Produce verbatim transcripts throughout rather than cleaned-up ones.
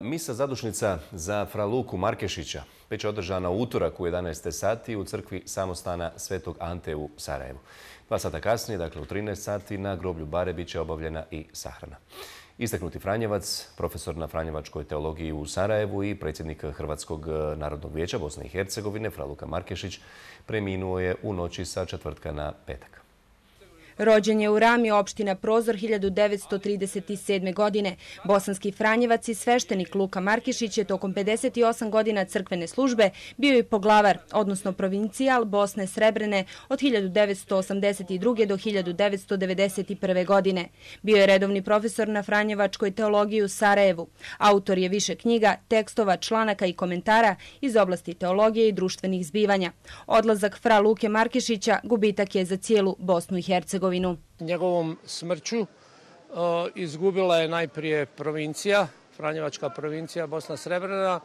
Misa zadušnica za fra Luku Markešića već je održana u utorak u jedanaest sati u crkvi samostana Svetog Ante u Sarajevu. Dva sata kasnije, dakle u trinaest sati, na groblju Barebića obavljena i sahrana. Istaknuti Franjevac, profesor na Franjevačkoj teologiji u Sarajevu i predsjednik Hrvatskog narodnog vijeća Bosne i Hercegovine, fra Luka Markešić, preminuo je u noći sa četvrtka na petak. Rođen je u Rami, opština Prozor, hiljadu devetsto trideset sedme. godine. Bosanski Franjevac i sveštenik Luka Markešić je tokom pedeset osam godina crkvene službe bio i poglavar, odnosno provincijal Bosne Srebrene od hiljadu devetsto osamdeset druge. do hiljadu devetsto devedeset prve. godine. Bio je redovni profesor na Franjevačkoj teologiji u Sarajevu. Autor je više knjiga, tekstova, članaka i komentara iz oblasti teologije i društvenih zbivanja. Odlazak fra Luke Markešića gubitak je za cijelu Bosnu i Hercegovinu. Njegovom smrću uh, izgubila je najprije provincija, Franjevačka provincija Bosna Srebrena,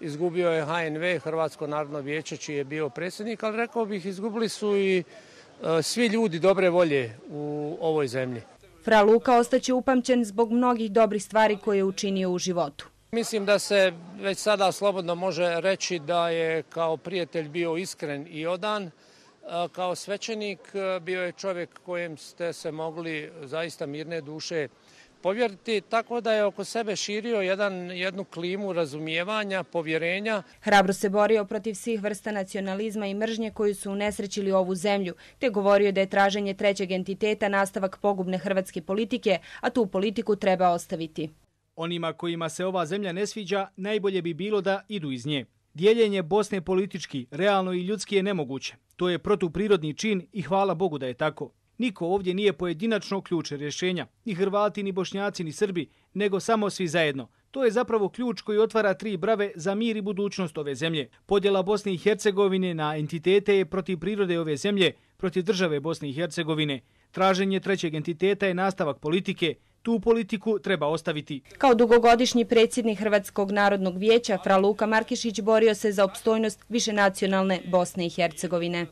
izgubio je H N V, Hrvatsko narodno vijeće, čiji je bio predsjednik, ali rekao bih izgubili su i uh, svi ljudi dobre volje u ovoj zemlji. Fra Luka ostaće upamćen zbog mnogih dobrih stvari koje je učinio u životu. Mislim da se već sada slobodno može reći da je kao prijatelj bio iskren i odan. Kao svećenik bio je čovjek kojem ste se mogli zaista mirne duše povjeriti, tako da je oko sebe širio jedan, jednu klimu razumijevanja, povjerenja. Hrabro se borio protiv svih vrsta nacionalizma i mržnje koji su unesrećili ovu zemlju, te govorio da je traženje trećeg entiteta nastavak pogubne hrvatske politike, a tu politiku treba ostaviti. Onima kojima se ova zemlja ne sviđa, najbolje bi bilo da idu iz nje. Dijeljenje Bosne politički, realno i ljudski je nemoguće. To je protuprirodni čin i hvala Bogu da je tako. Niko ovdje nije pojedinačno ključ rješenja, ni Hrvati, ni Bošnjaci, ni Srbi, nego samo svi zajedno. To je zapravo ključ koji otvara tri brave za mir i budućnost ove zemlje. Podjela Bosne i Hercegovine na entitete je protiv prirode ove zemlje, protiv države Bosne i Hercegovine. Traženje trećeg entiteta je nastavak politike. Tu politiku treba ostaviti. Kao dugogodišnji predsjednik Hrvatskog narodnog vijeća, fra Luka Markešić borio se za opstojnost višenacionalne Bosne i Hercegovine.